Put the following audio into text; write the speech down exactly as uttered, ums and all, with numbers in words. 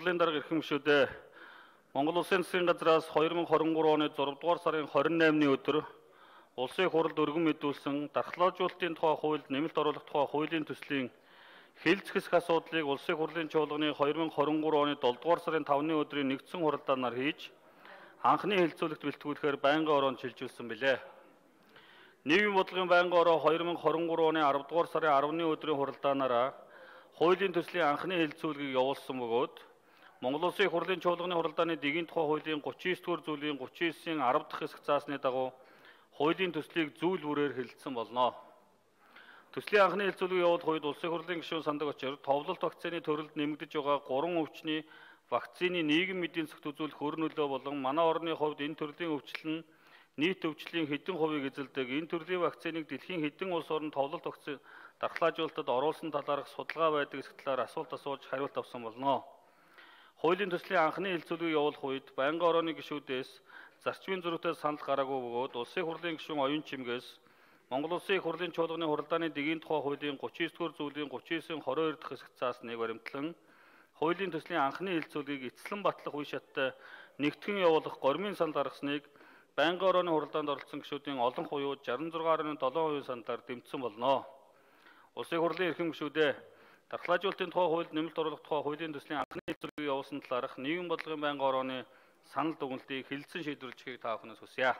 хурлын дарга эрхэм гишүүдээ Монгол Улсын засгийн газраас хоёр мың хорин гурав оны зургаадугаар сарын хорин наймны өдөр улсын хурлд өргөн мэдүүлсэн дархлаажуулалтын тухай хуульд нэмэлт оруулах тухай хуулийн төслийн хэлэлцэх хэсэг асуудлыг улсын хурлын чуулганы хоёр мың хорин гурав оны долдугаар сарын тавны өдрийн нэгдсэн хуралдаанаар хийж анхны хэлэлцүүлэгт бэлтгүүлэхээр байнгын ороонд шилжүүлсэн билээ. Нийгмийн бодлогын байнгын ороо хоёр мың хорин гурав оны аравдугаар сарын арваны өдрийн хуралдаанаараа хуулийн төслийн анхны хэлэлцүүлгийг явуулсан бөгөөд Монгол Улсын их хурлын чуулганы хуралдааны дэгийн тухай хуулийн гучин девять дугаар зүйлийн гучин девятийн арав дахь хэсэг заасны дагуу хуулийн төслийг зүйл бүрээр хэлэлцсэн болно. Төслийн анхны хэлэлцүүлгийг явуулах үед Улсын хурлын гишүүн сандаг очир товлолт вакцины төрөлд нэмэгдэж байгаа гурван өвчний вакцины нийгэм эдийн засгт үзүүлэх өр нөлөө болон манай орны хувьд энэ төрлийн өвчлөл нь нийт өвчлийн хэдэн хувийг эзэлдэг, энэ төрлийн вакциныг дэлхийн хэдэн улс орнд товлолт вакцины дархлаажуулалтад оруулсан талаарх судалгаа байдаг эсэх талаар асуулт асууж хариулт авсан болно. Хуулийн төслийн анхны хэлэлцүүлгийг явуулах үед байнгын орооны гишүүдээс зарчмын зөрүүтэй санал гараагүй бөгөөд Улсын хурлын гишүүн оюун чимгээс Монгол Улсын их хурлын чуулганы хуралдааны дэгийн тухай хуулийн гучин девять дугаар зүйлийн гучин девятийн двадцать хоёр дахь хэсэг заасныг баримтлан хуулийн төслийн анхны хэлэлцүүлгийг эцэслэн батлах үе шаттай нэгтгэн явуулах гормын санал гаргасныг байнгын орооны хуралдаанд оролцсон гишүүдийн олон хуйууд шестьдесят шесть гаруй七хувийн саналаар дэмжсэн болно. Улсын хурлын эрхэм гишүүдээ дархлаажуулалтын тухай хуульд нэмэлт оруулах тухай хуулийн төслийн анхны хэлэлцүүлгийг явуулсан талаарх нийгмийн бодлогын байнгын орооны санал дүгнэлтийг хэлэлцэн шийдвэрлэхийг та бүхнээс хүсье.